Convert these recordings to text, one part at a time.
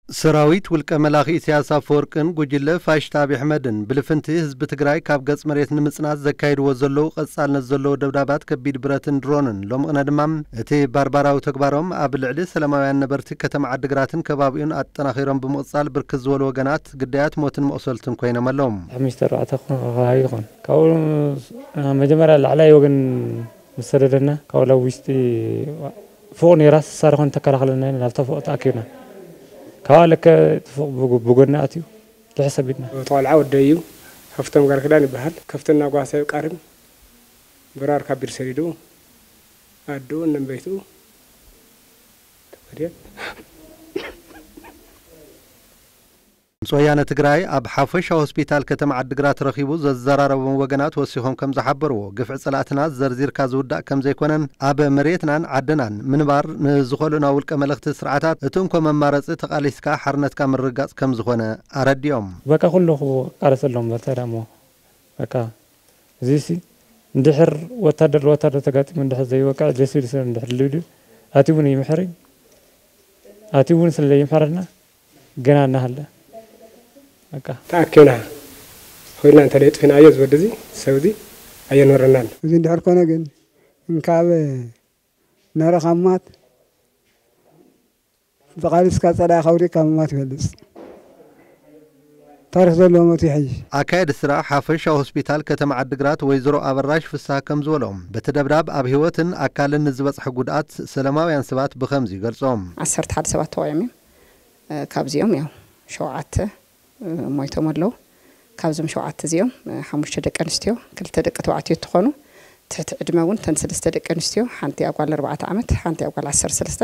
ሰራዊት ውልቀ መላኺ ኢሳያስ ኣፈወርቅን ጉጅለ ፋሽስት ኣብይ ኣሕመድን ብልፍንቲ ህዝቢ ትግራይ ካብ ገጽ መሬት ንምጽናት ዘካይድዎ ዘለዉ ቀጻልነት ዘለዎ ደብዳባት ከቢድ ብረትን ድሮንን ሎምቕነ ድማ እቲ ባርባራዊ ተግባሮም ኣብ ልዕሊ ሰላማውያን ነበርቲ ከተማ ዓድግራትን ከባቢኡን ኣጠናኺሮም ብምቕጻል ብርክት ዝበሉ ወገናት ግዳያት ሞትን መቑሰልትን ኮይኖም ኣለዉ። ሓሙሽተ ኣርባዕተ ክኾን ከባቢ ይኾን ካብኡ መጀመርያ ላዕላይ ወገን ምስ ሰደደና ካብኡ ላብ ውሽጢ ፎቕ ነይራ ስሳ ዝኾን ተከላኸለና ኢና ናብታ ፎቕ ተኣኪብና ካብኣ ለከ እቲ ፎቕ ብጎ- ብጎና ኣትዩ ትሕሰብ ኢልና። እቲ ቆልዓ ወደይ እዩ። ሃፍቶም ጋር ክዳን ይበሃል። ከፍትና ጓሳ ይቃርም ብራር ካቢር ሰዲዱ ኣዱ እነም ቤቱ ተወዲያ። ድምፂ ወያነ ትግራይ ኣብ ሓፈሻ ሆስፒታል ከተማ ዓድግራት ረኺቡ ዘዘራረቦም ወገናት ወሲኾም ከም ዝሓበርዎ ግፍዒ ፀላእትና ዘርዚርካ ዝውዳእ ከም ዘይኮነን ኣብ መሬትናን ዓድናን ምንባር ንዝኸልኡና ውልቀ መለኽቲ ስርዓታት እቲ እንኮ መማረፂ ተቓሊስካ ሓርነትካ ምርግጋፅ ከም ዝኾነ ኣረዲኦም። በቃ ኩሉ ክቃለሰሎም በልታ ደሞ በቃ እዚሲ እንድሕር ወታደር ለወታደር ተጋጢሙ እንድሕር ዘይወቅዕ ዘይሲቪል ሰብ እንድሕር ልብልዩ ኣቲ እውን ይምሕር እዩ ኣቲ እውን ስለ ዘይምሕረና ገና እናሃለ በቃ ተኣኪብና ኮይና እንተ ለይጥፊናዮ ዝወዲ እዚ ሰብ እዚ ኣየንበረናን። እዚ እንድሕር ኮነ ግን እንካብ ነረኻማት ብቓልስካ ጸላኢ ከውሪካ ምማት ይበልጽ። ታሪኽ ዘለዎ ሞት ይሕይሽ። ኣካየዲ ስራሕ ሓፈሻ ሆስፒታል ከተማ ዓድግራት ወይዘሮ ኣበራሽ ፍስሃ ከም ዝበሎም በቲ ደብዳብ ኣብ ህይወትን ኣካልን ንዝበጽሐ ጉድኣት ሰላማውያን ሰባት ብኸምዚ ይገልጾም። ዓሰርተ ሓደ ሰባት ተዋዮም እዮም። ካብዚኦም ያው ሸውዓተ ሞይቶም ኣለዉ። ካብዞም ሸውዓተ እዚኦም ሓሙሽተ ደቂ ኣንስትዮ ክልተ ደቂ ተባዕትዮ እንትኾኑ ትሕቲ ዕድመ እውን ተን ሰለስተ ደቂ ኣንስትዮ ሓንቲ ኣጓል ኣርባዕተ ዓመት ሓንቲ ኣጓል ዓሰርተ ሰለስተ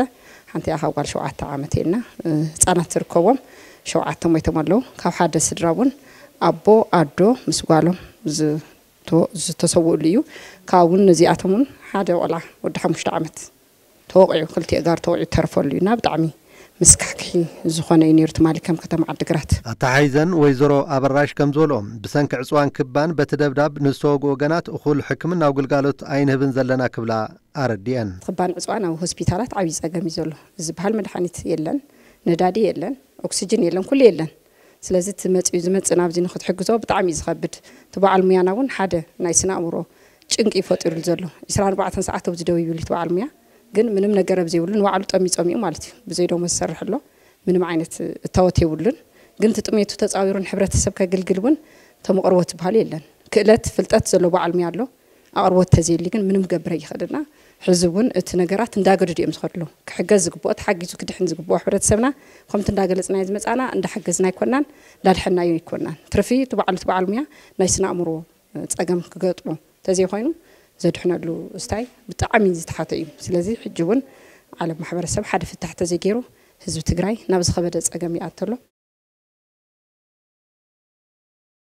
ሓንቲ ኣኻ ጓል ሸውዓተ ዓመት የና ህፃናት ዝርከቦም ሸውዓተ ሞይቶም ኣለዉ። ካብ ሓደ ስድራ እውን ኣቦ ኣዶ ምስ ጓሎም ዝተሰውእሉ እዩ። ካብ እውን ነዚኣቶም እውን ሓደ ቆልዓ ወዲ ሓሙሽተ ዓመት ተወቂዑ ክልቲኡ ጋር ተወቂዑ ተርፈሉ እዩ እና ብጣዕሚ ምስካሕክሒ ዝኾነ እዩ ነይሩ ትማሊ ከም ከተማ ዓድግራት። ኣተሓይዘን ወይዘሮ ኣበራሽ ከም ዝበልኦም ብሰንኪ ዕፅዋን ክባን በቲ ደብዳብ ንዝተወግኡ ወገናት እኹል ሕክምናዊ ግልጋሎት ኣይንህብን ዘለና ክብላ ኣረዲአን። ክባን ዕፅዋን ኣብ ሆስፒታላት ዓብዪ ፀገም እዩ ዘሎ ዝበሃል መድሓኒት የለን፣ ነዳዲ የለን፣ ኦክስጅን የለን፣ ኩሉ የለን። ስለዚ እቲ መፅኡ ዝመፅእ ናብዚ ንክትሕግዞ ብጣዕሚ እዩ ዝኸብድ። እቲ በዓል ሙያና እውን ሓደ ናይ ስነ ኣእምሮ ጭንቂ እዩ ፈጢሩሉ ዘሎ። ዕስራን ኣርባዕተን ሰዓት ኣብዚ ደው ይብል እቲ በዓል ሙያ ግን ምንም ነገር ኣብ ዘይብሉ ንባዕሉ ጠሚዩ ጸሚኡ ማለት እዩ። ብዘይ ደሞዝ ዝሰርሕ ኣሎ። ምንም ዓይነት እታወት የብሉን። ግን እቲ ጥሜቱ ተጻዊሩ ንሕብረተሰብ ከግልግል እውን ተመቕርቦ ትበሃል የለን። ክእለት ፍልጠት ዘሎ በዓል ሙያ ኣሎ። ኣቕርቦት ተዘይሊ ግን ምንም ክገብር ኣይኽእልና። ሕዚ እውን እቲ ነገራት እንዳገደዱ እዮም ዝኸዱ ኣለዉ። ክሕገዝ ዝግብኦ ተሓጊዙ ክድሕን ዝግብኦ ሕብረተሰብና ከምቲ እንዳገለጽናዮ ዝመጻና እንዳሓገዝና ኣይኮናን እንዳድሐናዮ ኣይኮናን። ትርፊ እቲ በዓሉ እቲ በዓል ሙያ ናይ ስነ ኣእምሮ ጸገም ክገጥሞ ተዘይኮይኑ ዘድሕነሉ ስታይ ብጣዕሚ ዝተሓተ እዩ። ስለዚ ሕጂ እውን ዓለም ማሕበረሰብ ሓደ ፍታሕ ተዘይገይሩ ህዝቢ ትግራይ ናብ ዝኸበደ ጸገም ይኣቱ ኣሎ።